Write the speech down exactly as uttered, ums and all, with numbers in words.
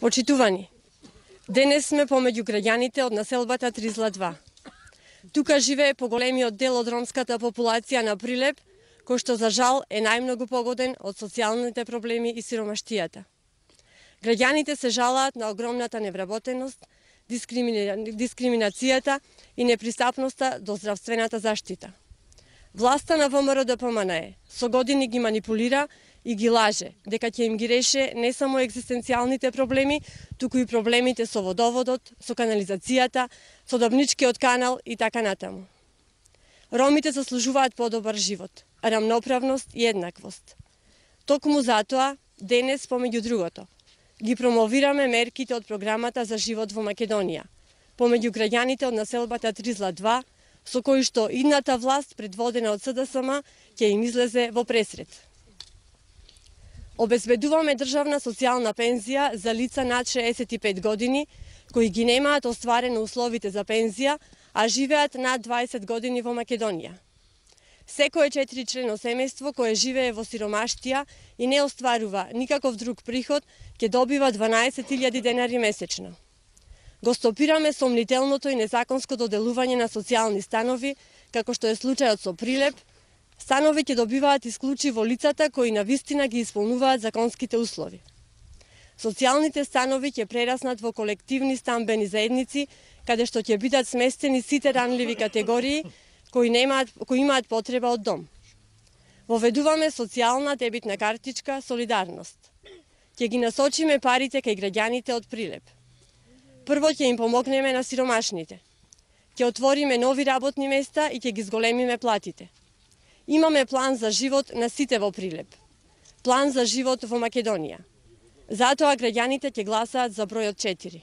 Почитувани, денес сме помеѓу граѓаните од населбата Тризла два. Тука живее поголемиот дел од ромската популација на Прилеп, кој што за жал е најмногу погоден од социјалните проблеми и сиромаштијата. Граѓаните се жалаат на огромната невработеност, дискримина... дискриминацијата и непристапноста до здравствената заштита. Власта на ВМРО Д П М Н е со години ги манипулира и ги лаже дека ќе им ги реше не само екзистенцијалните проблеми, туку и проблемите со водоводот, со канализацијата, со Добничкиот канал и така натаму. Ромите заслужуваат подобар живот, рамноправност и еднаквост. Токму затоа, денес, помеѓу другото, ги промовираме мерките од програмата за живот во Македонија, помеѓу граѓаните од населбата Тризла два, со кои што идната власт, предводена од С Д С М, ќе им излезе во пресред. Обезбедуваме државна социјална пензија за лица над шеесет и пет години, кои ги немаат остварено условите за пензија, а живеат над дваесет години во Македонија. Секое четиричлено семејство кое живее во сиромаштија и не остварува никаков друг приход, ќе добива дванаесет илјади денари месечно. Го стопираме сомнителното и незаконско доделување на социјални станови, како што е случајот со Прилеп. Станови ќе добиваат исклучиво лицата кои навистина ги исполнуваат законските услови. Социјалните станови ќе прераснат во колективни стамбени заедници, каде што ќе бидат сместени сите ранливи категории кои немаат кои имаат потреба од дом. Воведуваме социјална дебитна картичка Солидарност. Ќе ги насочиме парите кај граѓаните од Прилеп. Прво ќе им помогнеме на сиромашните. Ќе отвориме нови работни места и ќе ги зголемиме платите. Имаме план за живот на сите во Прилеп. План за живот во Македонија. Затоа граѓаните ќе гласаат за бројот четири.